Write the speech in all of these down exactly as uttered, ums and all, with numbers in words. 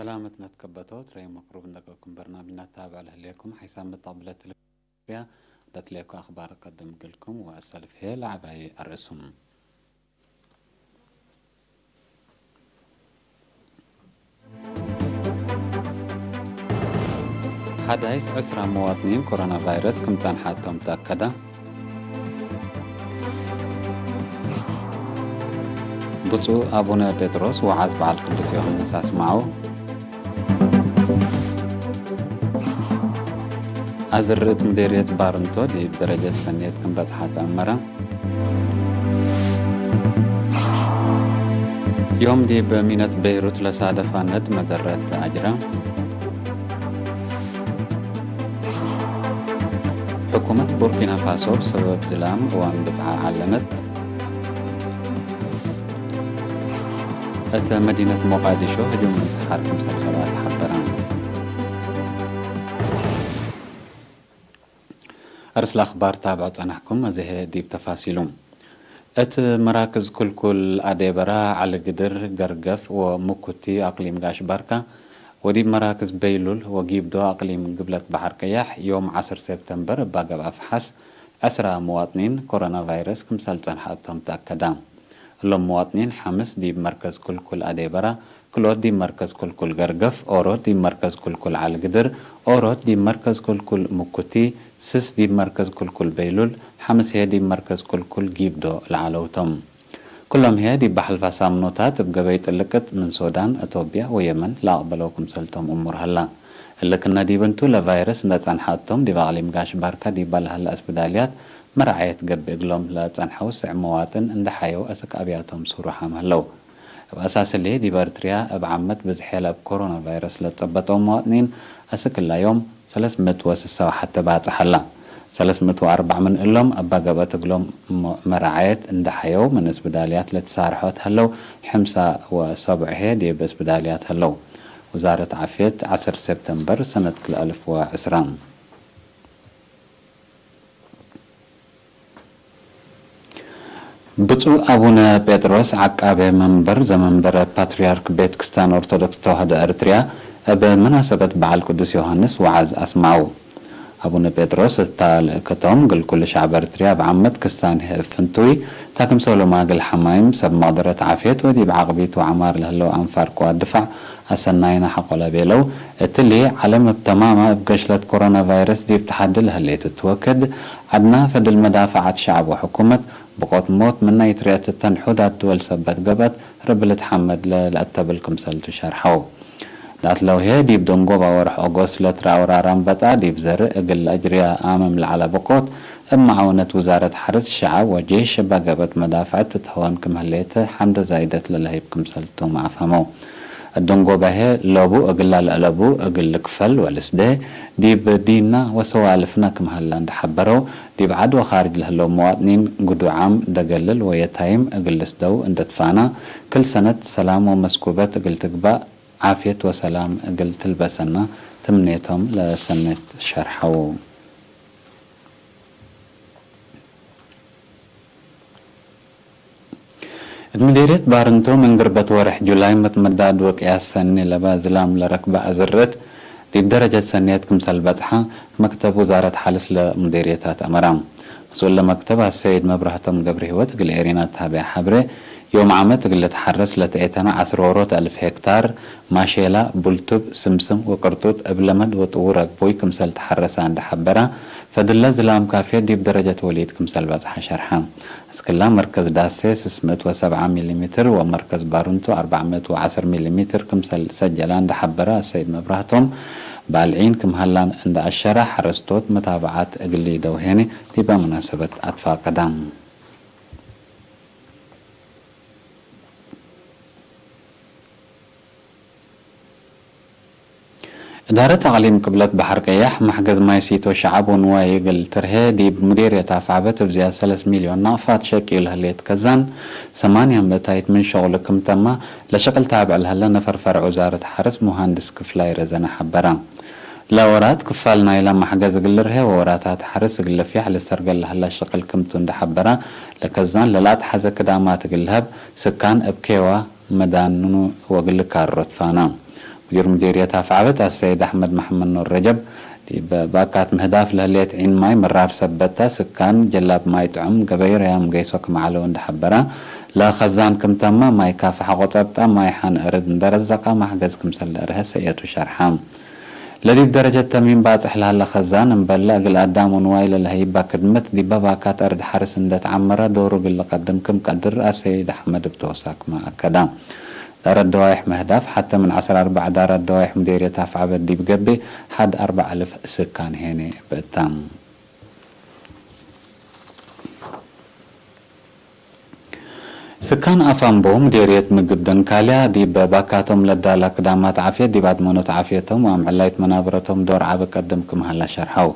ሰላመት ነትከበቶ ትረዩ መቅሩብ እንደቀኩም በርናምጅ ነታብዕ ለህሌኩም ሓይሳም መጣብለት ለትሌኩ አክባር ቀድም እግልኩም ወአሰልፍ ህዬ ለዐባይ አርእሱም። ሐዳይስ ዕስራ መዋጥኒን ኮሮና ቫይረስ ክም ጸንሐ እቶም ተአከደ። ብፁዕ አቡነ ጴጥሮስ ወዓዝ በዓል ቅዱስ ዮሐንስ አስመዐው። አዝርዕት ምዴርየት ባርንቶ ዲብ ደረጀት ሰኔት ክም በጽሐ ተአመረ። ዮም ዲብ ሚነት ቤይሩት ለሳደፋ ነድ መደረት ተአጅረ። ሕኩመት ቡርኪና ፋሶ ብሰበብ ዝላም እዋን ብጽዓ ዐለነት። እተ መዲነት ሞቃዲሾ ህጁም እንትሓር ክምሰል ከልአት ሐበረ። አርእስ ለአክባር ታብዕ ጸናሕኩም፣ አዜ ህዬ ዲብ ተፋሲሉ። እት መራክዝ ክልኩል አዴበራ፣ ዐሊ ግድር፣ ገርገፍ ወሙኩቲ አቅሊም ጋሽ ባርካ፣ ወዲብ መራክዝ በይሉል ወጊብዶ አቅሊም ግብለት በሐር ቀያሕ፣ ዮም ዐስር ሴፕተምበር እብ አገብ አፍሓስ፣ ዕስራ መዋጥኒን ኮሮና ቫይረስ ክምሰል ጸንሐ እቶም ተአከደ። እሎም መዋጥኒን ሐምስ ዲብ መርከዝ ክልኩል አዴበራ፣ ክልኦት ዲብ መርከዝ ክልኩል ገርገፍ፣ ኦሮት ዲብ መርከዝ ክልኩል ዐሊ ግድር፣ ኦሮት ዲብ መርከዝ ክልኩል ሙኩቲ፣ ስስ ዲብ መርከዝ ክልኩል በይሉል፣ ሐምስ ህዬ ዲብ መርከዝ ክልኩል ጊብዶ ለዐለው ቶም። ክሎም ህዬ ዲብ በሐልፋ ሳምኖታት እብ ገበይ ጥልቅት ምን ሶዳን፣ አቶብያ ወየመን ለአቅበለው ክምሰልቶም እሙር ሀላ። እሊ ክነ ዲብ እንቱ፣ ለቫይረስ እንዴ ጸንሐ እቶም ዲብ አቅሊም ጋሽ ባርካ ዲበ ለሀለ እስብዳልያት መርዓየት ገብእ እግሎም ለጸንሐው ስዕ መዋጥን እንዴ ሐየው አስክ አብያቶም ሱሩሓም ሀለው። እብ አሳስ እሊ፣ ዲብ ኤርትርያ እብ ዓመት ብዝሕ ለእብ ኮሮና ቫይረስ ለትጸበጠው መዋጥኒን አስክ እላ ዮም ሰለስ ምእት ወስሳ ወሐተ ባጽሕ ሀላ። ሰለስ ምእት ወአርበዕ ምን እሎም እባ ገብአት እግሎም መ-፣ መራዓየት እንዴ ሐየው፣ ምን እስብዳልያት ለትሳርሖ እት ሀለው፣ ሕምሳ ወሰቡዕ ህዬ ዲብ እስብዳልያት ሀለው። ውዛረት ዓፍየት፣ ዐስር ሴፕተምበር ሰነት ክልኤ አልፍ ወዕስራ። ብፁዕ አቡነ ጴጥሮስ ዐቃቤ መንበር ዘመንበረ ፓትርያርክ ቤት ክስታን ኦርቶዶክስ ተዋህዶ ኤርትርያ እብ መናሰበት በዓል ቅዱስ ዮሐንስ ወዓዝ አስመዐው። አቡነ ጴጥሮስ እታ ልእከቶም እግል ኩሉ ሸዕብ ኤርትርያ እብ ዓመት ክስታን ህዬ እብ ፍንቱይ፣ ታ ክምሰሉ ማግል ሐማይም፣ ሰብ መቅደረት ዓፍየት ወዲብ ዐቅቢት ወዐማር ለህለው አንፋር ቅዋት ድፋዕ አሰናይነ ሐቆለ ቤለው። እትሊ፣ ዐለም እብ ተማመ እብ ገሽለት ኮሮና ቫይረስ ዲብ ተሐዲ ለህሌት እቱ ወክድ፣ ዐድና ፈድል መዳፈዓት ሸዐብ ወሕኩመት፣ ብቆት ሞት ምናይት ርኤት እተን ሑዳት ድወል ሰበት ገብአት፣ ረቢ ልትሐመድ ለለአተብል ክምሰልቱ ሸርሐው። ላትለው ህዬ፣ ዲብ ደንጎባ ወርሕ ኦጎስት ለትረአ ወራር አንበጣ ዲብ ዘርእ እግል ለአጅርያ አምም ለዐለ ብቆት፣ እብ መዓውነት ውዛረት ሐርስ ሸዐብ ወጄሽ እባ ገብአት መዳፍዐት ትትሀወን ክም ህሌት ሐምደ ዛይደት ለለህይብ ክምሰልቱም አፍሀመው። እደንጎበ ህዬ ለቡ እግላ ለአለቡ እግል ልክፈል ወልስዴ ዲብ ዲንና ወሰዋልፍና ክም ሀላ እንዴ ሐበረው፣ ዲብ ዐድ ወካርጅ ለህለው መዋጥኒን ግዱዓም፣ ደገልል ወየታይም እግል ልስደው እንዴ ትፋና፣ ክል ሰነት ሰላም ወመስኩበት እግል ትግባእ፣ ዓፍየት ወሰላም እግል ትልበሰና ትምኔቶም ለሰኔት ሸርሐው። እት ምዴርየት ባርንቶ፣ ምን ግርበት ወሬሕ ጁላይ መትመዳድ ወቅያስ ሰኒ ለበ ዝላም ለረክበ አዝርዕት፣ ዲብ ደረጀት ሰንየት ክምሰል በጽሐ፣ መክተብ ውዛረት ሐርስ ለሙዴርየታት አመረ። መስኡል ለመክተብ አሰይድ መብራህቶም ገብረሂወት እግል ኤሪና ተሀቤ ሐብሬ፣ ዮም ዓመት እግል ልትሐረስ ለተኤተነ ዐስር ዎሮት አልፍ ሄክታር፣ ማሼላ፣ ቡልቱብ፣ ስምስም ወቅርጡጥ እብ ለመድ ወጥዉር አግቡይ ክምሰል ተሐረሰ እንዴ ሐበረ፣ ፈድለ ዝላም ካፍየት ዲብ ደረጀት ወሊድ ክምሰል በጽሐ ሸርሐ። አስክላ መርከዝ ዳሴ ስስ ምእት ወሰብዓ ሚሊ ሜትር ወመርከዝ ባሩንቱ አርበዕ ምእት ወዐስር ሚሊ ሜትር ክምሰል ሰጀላ እንዴ ሐበረ አሰይድ መብራህቶም፣ ባልዒን ክም ሀላን እንዴ አሸረ፣ ሐረስቶት መታብዓት እግል ሊደው ሄኒ ዲበ መናሰበት አትፋቀደ። እዳረት አቅሊም ቅብለት በሐር ቀያሕ፣ መሕገዝ ማይ ሲቶ ሸዐብ ወንዋይ እግል ትርሄ፣ ዲብ ሙዴርየት አፍዐበት እብ ዝያድ ሰለስ ሚልዮን ናቅፋት ሸቅዩ ለህሌት ከዛን፣ ሰማንያ ምእታይት ምን ሸቅሉ ክም ተማ፣ ለሸቅል ታብዕ ለህለ ነፈር ፈርዕ ውዛረት ሐርስ ሙሃንድስ ክፍላይ ረዘነ ሐበረ። ለወራት ክፋል ናይላ መሕገዝ እግል ልርሄ ወወራታት ሐርስ እግል ልፍያሕ ልሰርገል ለህለ ሸቅል ክምቱ እንዴ ሐበረ፣ ለከዛን ለለአትሐዘ ክዳማት እግል ልሀብ፣ ስካን እብ ኬዋ መዳኑ ወእግል ልካሮ ትፋና። ሙዲር ሙዲርየት አፍዓበት አሰይድ አሕመድ መሐመድ ኑር ረጀብ፣ ዲብ ባካት ምህዳፍ ለህሌት ዒን ማይ ምራር ሰበት ተ፣ ስካን ጀላብ ማይ ጥዑም ገበይ ረያም ገይሶ ክም ዐለው እንዴ ሐበረ፣ ለኸዛን ክም ተመ፣ ማይ ካፍሐ ቆጸብጠ፣ ማይ ሐን እርድ እንዴ ረዘቀ፣ ማሕገዝ ክምሰል ለአርሀ ሰእየቱ ሸርሐ። ለዲብ ደረጀት ተሚም ባጽሕ ለሀለ ከዛን፣ እምበለ እግል አዳም ወንዋይ ለለሀይባ ክድመት፣ ዲበ ባካት አርድ ሐርስ እንዴ ተዐመረ፣ ዶሩ እግል ልቀድም ክም ቀድር አሰይድ አሕመድ እብ ተውሳክመ አከደ። ዳረት ደዋይሕ ምህዳፍ፣ ሐተ ምን ዐስር አርበዕ ዳራት ደዋይሕ ሙዴርየት አፍዓበት ዲብ ገብእ፣ ሐድ አርበዕ አልፍ ስካን ሄኔ ብእታም። ስካን አፋምቦ፣ ምዴርየት ምግብ ደንካልያ፣ ዲብ ባካቶም ለዳላ ክዳማት ዓፍየት፣ ዲብ አድመኖት ዓፍየቶም ወአምዕላይት መናበረቶም ዶር ዐቢ ቀድም ክም ሀላ ሸርሐው።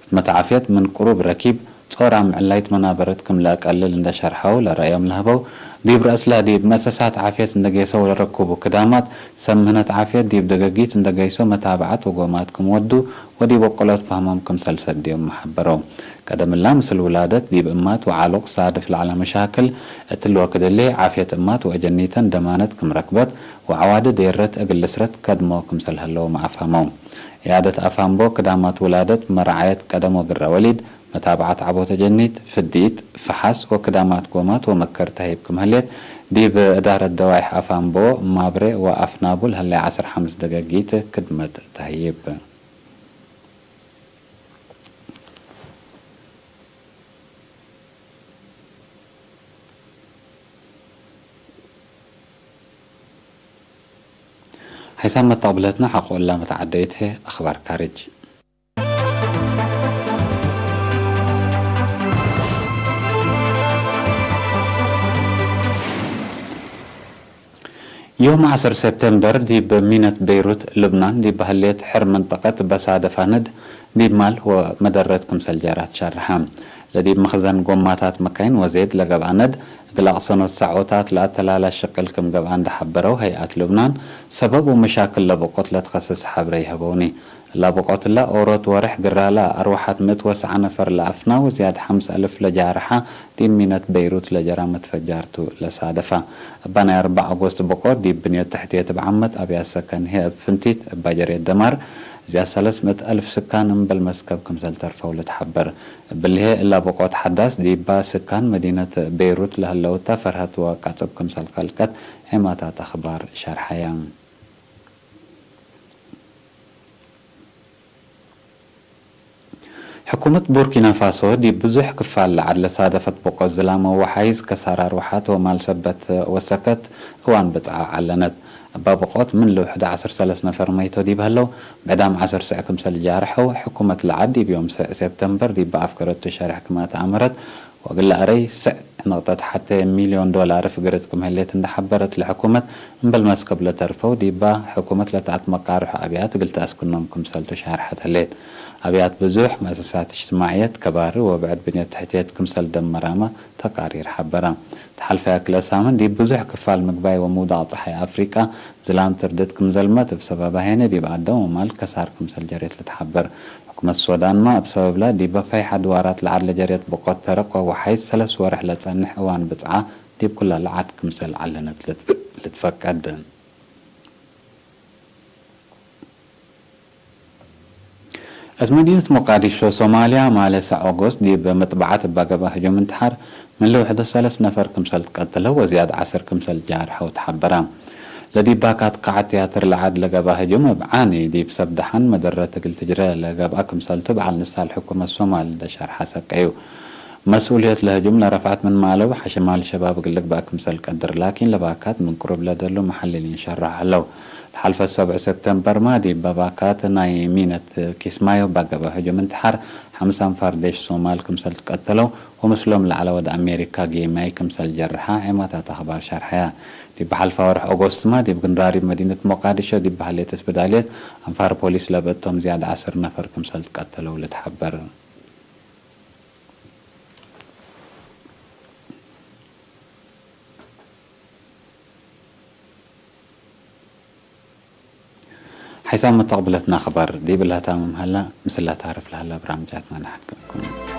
ክድመት ዓፍየት ምን ቅሩብ ረኪብ፣ ጾር አምዕላይት መናበረት ክም ለአቀልል እንደ ሸርሐው፣ ለረአዮም ለሀበው፣ ዲብ ረአስለ ዲብ መእሰሳት ዓፍየት እንደ ጌሰው ለረኩቡ ክዳማት፣ ሰብ ምህነት ዓፍየት ዲብ ደገጊት እንደ ገይሶ መታብዐት ወጎማት ክም ወዱ፣ ወዲብ ወቅሎት ፋህሞም ክምሰል ሰድዮም ሐበረው። ቀደምላ ምስል ውላደት ዲብ እማት ወዓሉቅ ሳድፍ ለዐለ መሻክል፣ እትሊ ወክድ ህሌ ዓፍየት እማት ወአጀኒተን ደማነት ክም ረክበት ወዐዋዲ ዴረት እግል ልስረት ከድሞ ክምሰል ሀለውም አፋመው። ዕያደት አፋምቦ ክዳማት ውላደት መርዓየት ቀደም ወግረ ወሊድ፣ መታብዐት ዐቦት አጀኒት፣ ፍዲት፣ ፈሐስ ወክዳማት ጎማት ወመከር ተህይብ ክም ህሌት፣ ዲብ እዳረት ደዋይሕ አፋምቦ፣ ማብሬ ወአፍናቡ ለህሌ ዐስር ሐምስ ደገጊት ክድመት ተህይብ። ሐይሳም መተቅብለትነ ሐቆ እላ መተዓደይት ህይ አኽባር ካርጅ። ዮም ዐስር ሴፕቴምበር ዲብ ሚነት ቤይሩት ልብናን ዲብ ሀሌት ሕር መንጠቀት በሳደፋ ነድ ዲብ ማል ወመደረት ክምሰል ጀራት ሸርሐ። ለዲብ መክዘን ጎማታት መካይን ወዜድ ለገብአ ነድ እግል አቅሰኖት ሳዖታት ለአተላላ ሽቅል ክም ገብአ እንደ ሐበረው ሀይአት ልብናን፣ ሰበብ ወመሻክል ለበቆት ለትከስስ ሐብሬ ይሀበውኒ። ለበቆትለ ኦሮት ወሬሕ ግራላ አርወሐት ምእት ወሰዓ ነፈር ለአፍና ወዝያድ ሐምስ አልፍ ለጃርሐ ዲብ ሚነት ቤይሩት ለጀራ መትፈጃር ቱ ለሳደፋ። እባ ናይ አርበዕ አጎስት በቆት ዲብ ብንየት ተሕትየት እብ ዓመት አብያት ሰከን ህይ እብ ፍንቲት እባ ጀርየት ደማር ዝያድ ሰለስ ምእት አልፍ ስካን እምበል መስከብ ክምሰል ተርፈው ልትሐበር። እብልሄ እላ በቆት ሐዳስ ዲባ ስካን መዲነት ቤይሩት ለህለው እተ ፈርሀት ወቃጽብ ክምሰል ከልቀት ዔማታት አኽባር ሸርሐያ። ሕኩመት ቡርኪና ፋሶ ዲብ ብዙሕ ክፋል ለዐድ ለሳደፈት በቆት ዝላመ ወወሓይዝ ከሳር አርወሓት ወማል ሰበት ወሰከት እዋን ብጽዓ ዐለነት። እባ በቆት ምን ልውሕደ ዐስር ሰለስ ነፈር መይቶ ዲብ ሀለው፣ ብዕዳም ዐስር ስዕ ክምሰል ጃርሐው። ሕኩመት ለዐድ ዲብ ዮም ስዕ ሴፕተምበር ዲብ አፍገረቱ ሸርሕ ክም አትአመረት፣ ወእግለ አረይ ስዕ ንቅጠት ሐቴ ሚልዮን ዶላር ፍግርት ክም ህሌት እንደ ሐበረት ለሕኩመት፣ እምበል መስከብ ለተርፈው ዲባ ሕኩመት ለተአትመቃርሖ አብያት እግል ተአስክኖም ክምሰልቱ ሻርሐት ህሌት። አብያት ብዙሕ መአሰሳት እጅትማዕየት፣ ከባሪ ወብዕድ ብንየት ተሕትየት ክምሰል ደመራመ ተቃሪር ሐበረ። ተሐልፈ አክለ ሳምን ዲብ ብዙሕ ክፋል ምግባይ ወምውዳቅ ጸሓይ አፍሪቃ ዝላም ትርድት ክም ዘልመት፣ እብ ሰበባ ሄነ ዲብ አዳም ወማል ከሳር ክምሰል ጀሬት ልትሐበር። ሕኩመት ሶዳንመ እብ ሰበብለ ዲበ ፈይሐ ድዋራት ለዐድ ለጀሬት በቆት ተረቅ ወወሓይዝ ሰለስ ወርሕ ለጸንሕ እዋን ብጽዓ ዲብ ኩለ ለዐድ ክምሰል ዐለነት ልት-፣ ልትፈቀድ። እት መዲነት ሞቃዲሾ ሶማልያ፣ ማሌ ሰዕ ኦጎስት ዲብ መጥበዓት እባ ገብአ ህጁም እንትሓር ምን ለውሕደ ሰለስ ነፈር ክምሰል ትቀትለው ወዝያድ ዐስር ክምሰል ጃርሐው ተሐበረ። ለዲብ ባካት ቃዐት ትያትር ለዐድ ለገብአ ህጁም እብ ዓኒ ዲብ ሰብ ደሓን መደረት እግል ትጅረ ለገብአ ክምሰልቱ በዓል ንሳል ሕኩመት ሶማል እንደ ሸርሐ ሰቀዩ። መስኡልየት ለህጁም ለረፍዐት ምንመ አለቡ ሐሽም አልሸባብ እግል ልግበእ ክምሰል ቀድር፣ ላኪን ለባካት ምን ቅሩብ ለደሉ መሐልሊን ሸርሖ ዐለው። ለሐልፈ ሰብዕ ሰብተምበርመ ዲብ ባካት ናይ ሚነት ኪስማዮ ባገብአ ህጁም እንትሓር ሐምስ አንፋር ዴሽ ሶማል ክምሰል ትቀተለው ወምስሎም ለዐለ ወድ አሜሪካ ጌማይ ክምሰል ጀርሐ ዔማታት አኽባር ሸርሐያ። ዲብ ሐልፋ ወርሕ ኦጎስትመ ዲብ ግንራሪብ መዲነት ሞቃዲሾ ዲብ በህሌት እስብዳልየት አንፋር ፖሊስ ለብእቶም ዝያድ ዐስር ነፈር ክምሰል ትቀተለው ልትሐበር። ሐይሳም መተቅብለትና አኽባር ዲብ ለህታምም ሀላ፣ ምስለ ታርፍ ለሀላ ብራምጃትመ ነሐክኩም።